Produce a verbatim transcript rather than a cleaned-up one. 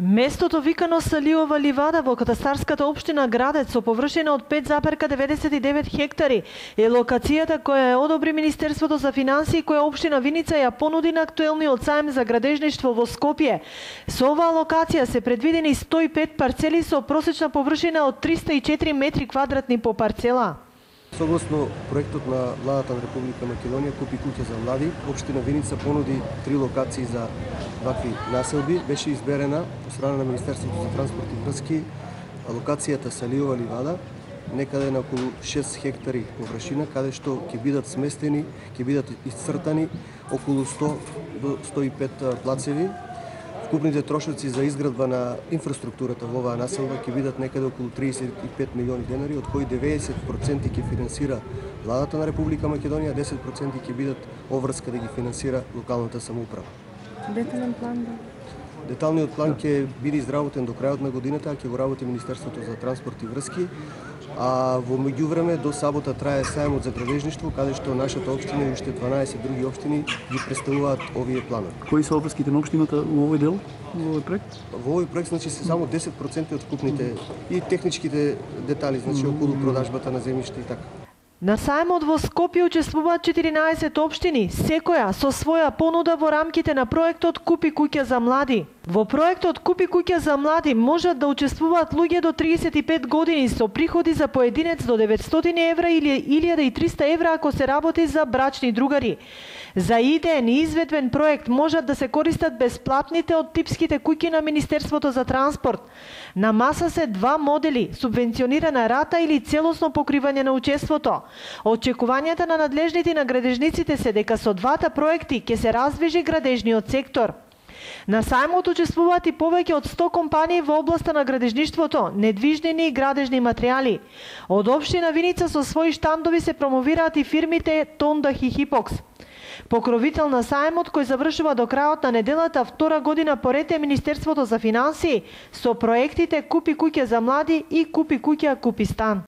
Местото викано Салиова ливада во катастарската општина Градец со површина од пет запирка деветдесет и девет хектари е локацијата која ја одобри Министерството за финансии, која општина Виница ја понуди на актуелниот саем за градежништво во Скопје. Со оваа локација се предвидени сто и пет парцели со просечна површина од триста и четири метри квадратни по парцела. Согласно проектот на владата на Република Македонија Купи куќа за млади, општина Виница понуди три локации за вакви населби. Беше изберена од страна на Министерството за транспорт и врски локацијата Салиова ливада, некаде на околу шест хектари површина, каде што ќе бидат сместени, ќе бидат исцртани околу сто до сто и пет плацеви. Вкупните трошоци за изградба на инфраструктурата во оваа населба ќе бидат некаде околу триесет и пет милиони денари, од кои деветдесет проценти ќе финансира владата на Република Македонија, десет проценти ќе бидат обврска да ги финансира локалната самоуправа. Детален план да? Деталниот план ќе биде изработен до крајот на годината, а ќе го работи Министерството за транспорт и врски. А во меѓувреме до сабота трае саемот за градежништво, каде што нашата општина и уште дванаесет други општини ги представуваат овие планови. Кои се обврските на општината во овој дел, во овој проект? Во овој проект значи се само десет проценти од вкупните и техничките детали, значи околу продажбата на земјиште и така. На саемот во Скопје учествуваат четиринаесет општини, секоја со своја понуда во рамките на проектот Купи куќа за млади. Во проектот Купи куќа за млади можат да учествуваат луѓе до триесет и пет години со приходи за поединец до деветстотини евра или илјада и триста евра ако се работи за брачни другари. За идеен и изведбен проект можат да се користат бесплатните од типските куќи на Министерството за транспорт. На маса се два модели, субвенционирана рата или целосно покривање на учеството. Очекувањата на надлежните на градежниците се дека со двата проекти ќе се раздвижи градежниот сектор. На саемот учествуваат и повеќе од сто компании во областа на градежништвото, недвижнини и градежни материјали. Од општина Виница со своји штандови се промовираат и фирмите Тондах и Хипокс. Покровител на саемот кој завршува до крајот на неделата втора година поред е Министерството за финансии со проектите Купи куќа за млади и Купи куќа Купи стан.